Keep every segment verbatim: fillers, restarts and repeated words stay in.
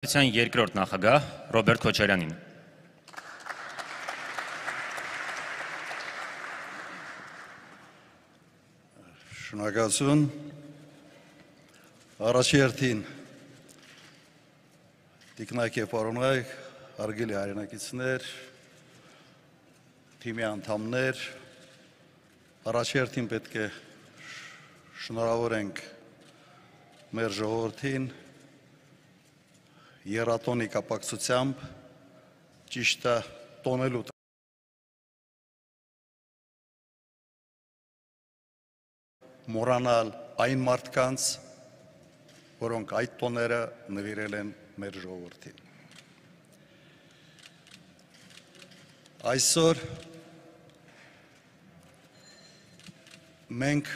Երկրորդ նախագահ Ռոբերտ Քոչարյանին։ Շնորհակալություն։ Առաջերտին տիկնայք եւ պարոնայք, հարգելի հայրենակիցներ, թիմի անդամներ, առաջերտին պետք է շնորհավորենք մեր ժողովրդին երաթոնի կապակցությամբ ճիշտը տոնելու մոռանալ այն մարդկանց, որոնք այդ տոները նվիրել են մեր ժողովրդին։ Այսօր մենք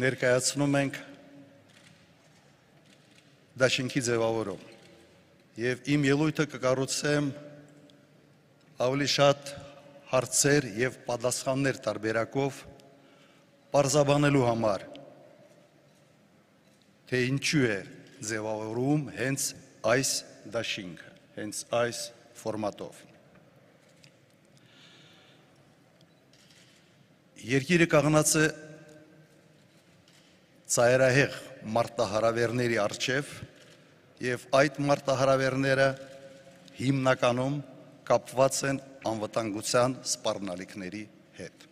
ներկայացնում ենք դաշինքի ձևավորում և իմ ելույթը կկառուցեմ ավելի շատ հարցեր և պատասխաններ տարբերակով պարզաբանելու համար, թե ինչու է ձևավորում հենց այս դաշինքը, հենց այս ֆորմատով։ Երկիրը կանգնած է ծայրահեղ մարտահրավերների առջև և այդ մարտահրավերները հիմնականում կապված են անվտանգության սպառնալիքների հետ։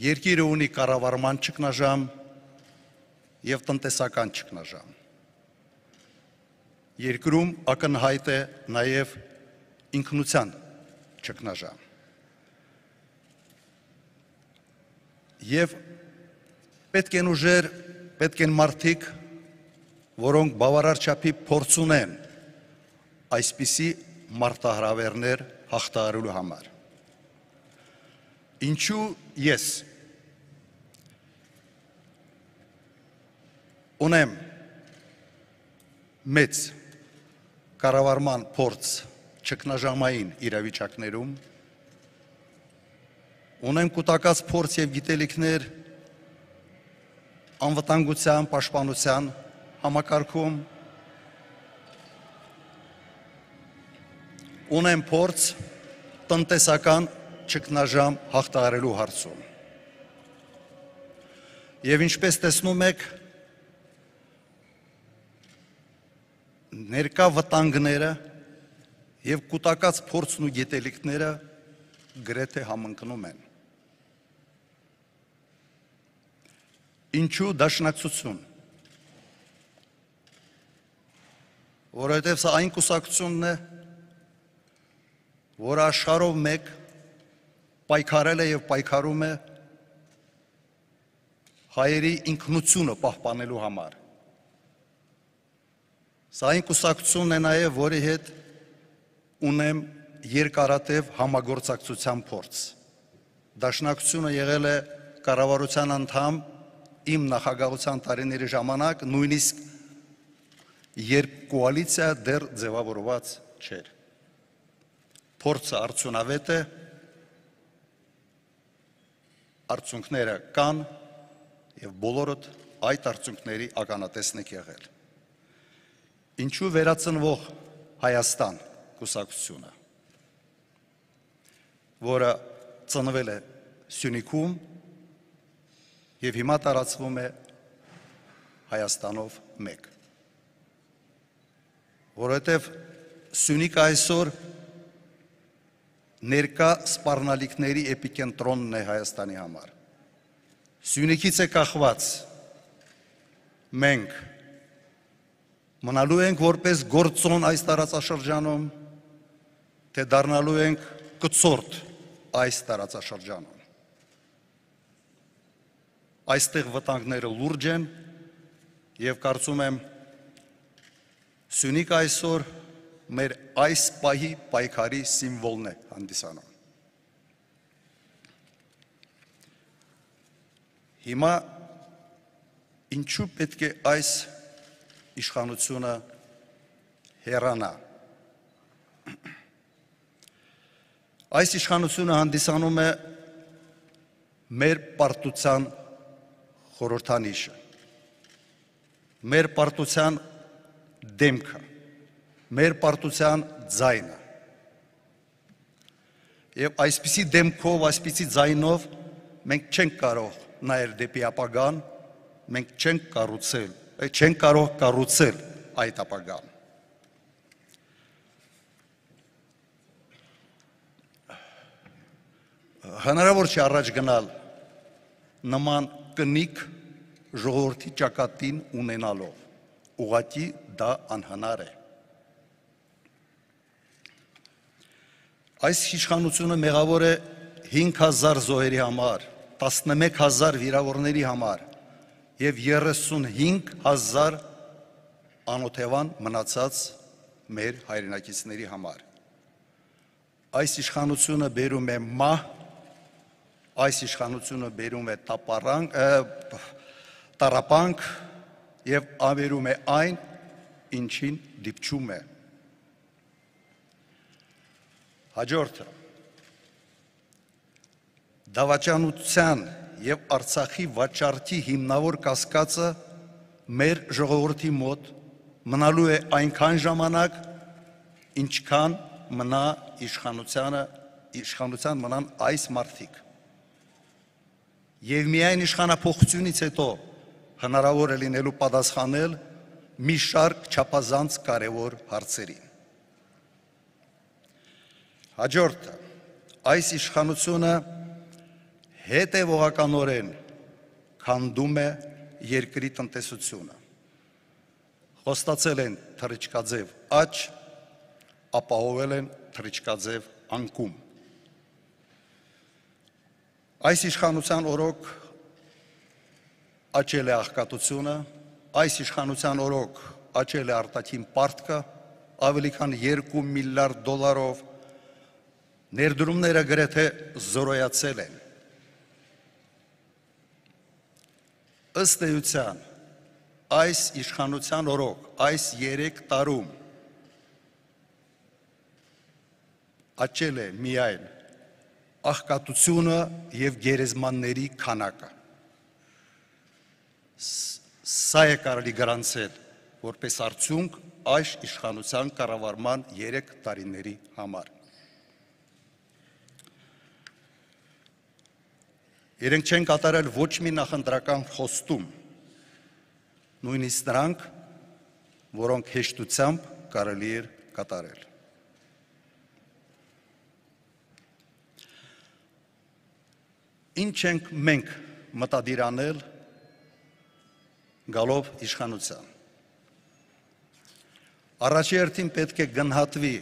Երկիրը ունի կառավարման ճգնաժամ և տնտեսական ճգնաժամ։ Երկրում ակնհայտ է նաև ինքնության ճգնաժամ։ Եվ պետք են ուժեր, պետք են մարդիկ, որոնք բավարար չափի փորձ ունեն այսպիսի մարտահրավերներ հաղթահարելու համար։ Ինչու ես ունեմ մեծ կառավարման փորձ ճգնաժամային իրավիճակներում, ունեմ կուտակած փորձ և գիտելիքներ անվտանգության, պաշտպանության համակարգում, ունեմ փորձ տնտեսական ճգնաժամ հաղթահարելու հարցում։ Եվ ինչպես տեսնում եք, ներկա վտանգները և կուտակած փորձն ու գիտելիքները գրեթե համընկնում են։ Ինչու դաշնակցություն։ Որովհետև սա այն կուսակցությունն է, որ աշխարհով մեկ պայքարել է և պայքարում է հայերի ինքնությունը պահպանելու համար։ Սա այն կուսակցությունն է նաև, որի հետ ունեմ երկարատև համագործակցության փորձ։ Դաշնակցությունը եղել է կառավարության անդամ իմ նախագահության տարիների ժամանակ, նույնիսկ երբ կոալիցիա դեռ ձևավորված չէր։ Փորձը արդյունավետ է, արդյունքները կան և բոլորդ այդ արդյունքների ականատեսն եք եղել։ Ինչու վերածնվող Հայաստան կուսակցությունը, որը ծնվել է Սյունիքում և հիմա տարածվում է Հայաստանով մեկ։ Որովհետև Սյունիքը այսօր ներկա սպառնալիքների էպիկենտրոնն է Հայաստանի համար։ Սյունիքից է կախված մենք մնալու ենք որպես գործոն այս տարածաշրջանում, թե դառնալու ենք կցորդ այս տարածաշրջանում։ Այստեղ վտանգները լուրջ են և կարծում եմ Սյունիքը այսօր մեր այս պահի պայքարի սիմվոլն է հանդիսանում։ Հիմա ինչու պետք է այս իշխանությունը հեռանա։ Այս իշխանությունը հանդիսանում է մեր պարտության խորհրդանիշը։ Մեր պարտության դեմքը, մեր պարտության ձայնը։ Եվ այսպիսի դեմքով, այսպիսի ձայնով մենք չենք կարող նայել դեպի ապագան, մենք չենք կառուցել, չենք կարող կառուցել այդ ապագան։ Հնարավոր չի առաջ գնալ նման կնիկ ժողովրդի ճակատին ունենալով, ուղղակի դա անհնար է։ Այս իշխանությունը մեղավոր է հինգ հազար զոհերի համար, տասնմեկ հազար վիրավորների համար և երեսունհինգ հազար անօթևան մնացած մեր հայրենակիցների համար։ Այս իշխանությունը բերում է մահ, այս իշխանությունը բերում է տառապանք և ավերում է այն, ինչին դիպչում է։ Հաջորդը, դավաճանության և Արցախի վաճառքի հիմնավոր կասկածը մեր ժողովրդի մոտ մնալու է այնքան ժամանակ, ինչքան մնա իշխանության մնան այս մարդիկ։ Եվ միայն իշխանափոխությունից հետո հնարավոր է լինելու պատասխանել մի շարք չափազանց կարևոր հարցերին։ Հաջորդը, այս իշխանությունը հետևողականորեն քանդում է երկրի տնտեսությունը։ Խոստացել են թռիչքաձև աճ, ապահովել են թռիչքաձև անկում։ Այս իշխանության օրոք աճել է աղքատությունը, այս իշխանության օրոք աճել է արտաքին պարտքը, ավելի քան երկու միլիարդ դոլարով, ներդրումները գրեթե զորոյացել են։ Ըստ էության, այս իշխանության օրոք, այս երեք տարում աճել է միայն աղքատությունը և գերեզմանների քանակը։ Սա է կարելի գրանցել որպես արդյունք այս իշխանության կառավարման երեք տարիների համար։ Իրենք չեն կատարել ոչ մի նախընտրական խոստում, նույնիսկ նրանք, որոնք հեշտությամբ կարելի էր կատարել։ Ինչ ենք մենք մտադիր անել գալով իշխանության։ Առաջերտին պետք է գնահատվի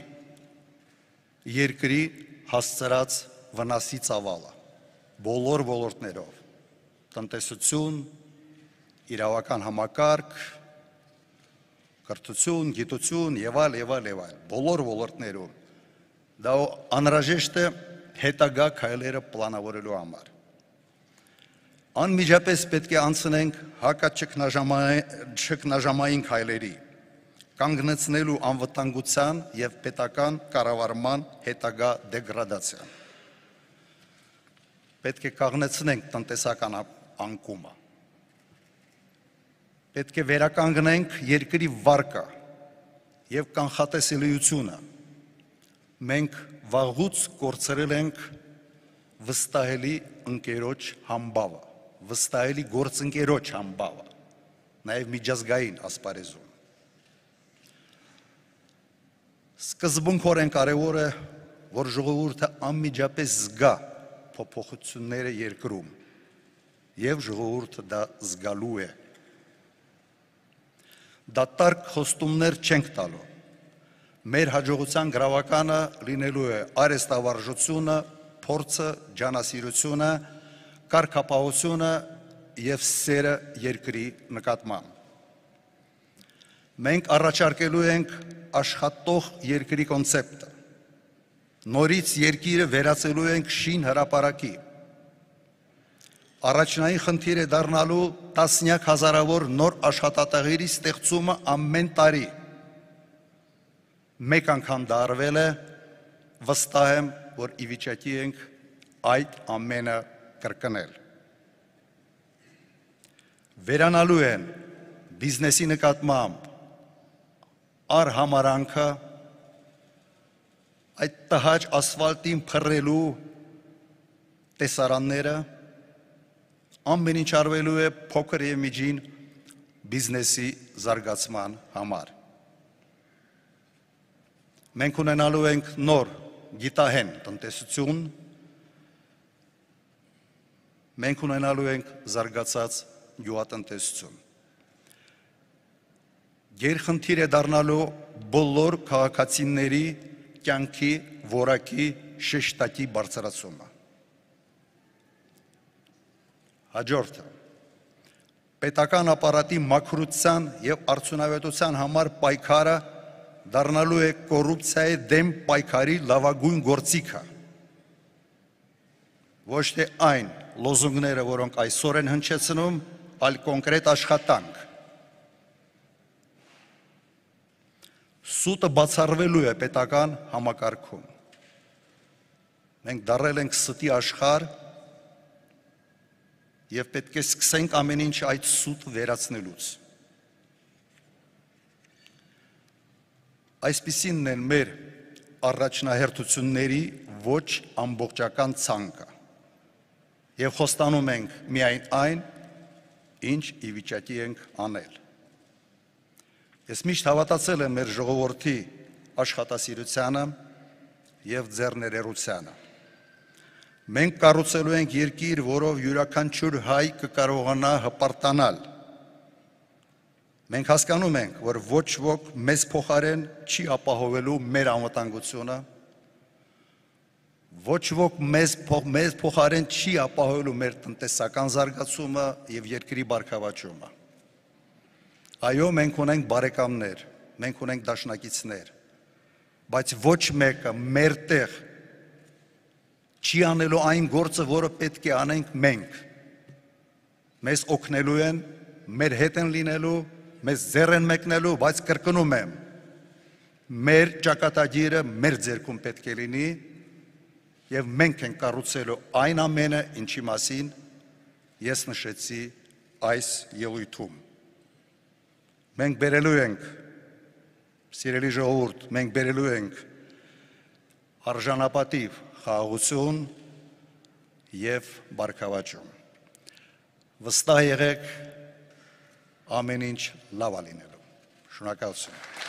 երկրի հասցրած վնասի ծավալը, բոլոր ոլորտներով, տնտեսություն, իրավական համակարգ, կրթություն, գիտություն եւ այլ եւ այլ եւ այլ, բոլոր ոլորտներում։ Դա անհրաժեշտ է հետագա քայլերը պլանավորելու համար։ Անմիջապես պետք է անցնենք հակաճգնաժամային քայլերի, կանգնեցնելու անվտանգության և պետական կառավարման հետագա դեգրադացիան։ Պետք է կանգնեցնենք տնտեսական անկումը։ Պետք է վերականգնենք երկրի վարկը և կանխատեսելիությունը։ Մենք վաղուց կորցրել ենք վստահելի ընկերոջ համբավը, վստահելի գործընկերոջ համբավը, նաև միջազգային ասպարեզում։ Սկզբունքորեն կարևոր է, որ ժողովուրդը անմիջապես զգա փոփոխությունները երկրում, և ժողովուրդը դա զգալու է։ Դատարկ խոստումներ չենք տալու։ Մեր հաջողության գրավականը լինելու է արհեստավարժությունը, փորձը, ջանասիրությունը, կարգապահությունը և սերը երկրի նկատմամբ։ Մենք առաջարկելու ենք աշխատող երկրի կոնցեպտը։ Նորից երկիրը վերածելու ենք շին հրապարակի։ Առաջնային խնդիր է դառնալու տասնյակ հազարավոր նոր աշխատատեղերի ստեղծումը ամեն տարի։ Մեկ անգամ դա արվել է, վստահ եմ, որ ի վիճակի ենք այդ ամենը կրկնել։ Վերանալու են բիզնեսի նկատմամբ արհամարանքը, այդ տհաճ ասֆալտին փռելու տեսարանները, ամեն ինչ արվելու է փոքր եւ միջին բիզնեսի զարգացման համար։ Մենք ունենալու ենք նոր գիտահեն տնտեսություն, մենք ունենալու ենք զարգացած գյուղատնտեսություն։ Գերխնդիր է դառնալու բոլոր քաղաքացիների կյանքի որակի շեշտակի բարձրացումը։ Հաջորդը, պետական ապարատի մաքրության եւ արդյունավետության համար պայքարը դառնալու է կոռուպցիայի դեմ պայքարի լավագույն գործիքը։ Ոչ թե այն լոզունգները, որոնք այսօր են հնչեցնում, այլ կոնկրետ աշխատանք։ Սուտը բացառվելու է պետական համակարգում։ Մենք դառել ենք ստի աշխարհ եւ պետք է սկսենք ամեն ինչ այդ սուտը վերացնելուց։ Այսպիսինն են մեր առաջնահերթությունների ոչ ամբողջական ցանկը եւ խոստանում ենք միայն այն, ինչ ի վիճակի ենք անել։ Ես միշտ հավատացել եմ մեր ժողովրդի աշխատասիրությանը եւ ձեռներերությանը։ Մենք կառուցելու ենք երկիր, որով յուրաքանչյուր հայ կկարողանա հպարտանալ։ Մենք հասկանում ենք, որ ոչ ոք մեզ փոխարեն չի ապահովելու մեր անվտանգությունը, ոչ ոք մեզ, մեզ փոխարեն չի ապահովելու մեր տնտեսական զարգացումը եւ երկրի բարգավաճումը։ Այո, մենք ունենք բարեկամներ, մենք ունենք դաշնակիցներ, բայց ոչ մեկը մեր տեղ չի անելու այն գործը, որը պետք է անենք մենք։ Մեզ օգնելու են, մեր հետ են լինելու, մեզ ձեռ են մեկնելու, բայց կրկնում եմ, մեր ճակատագիրը մեր ձեռքում պետք է լինի եւ մենք ենք կառուցելու այն ամենը, ինչի մասին ես նշեցի այս ելույթում։ Մենք բերելու ենք, սիրելի ժողովուրդ, մենք բերելու ենք արժանապատիվ խաղաղություն եւ բարգավաճում։ Վստահ եղեք, ամեն ինչ լավ է լինելու։ Շնորհակալություն։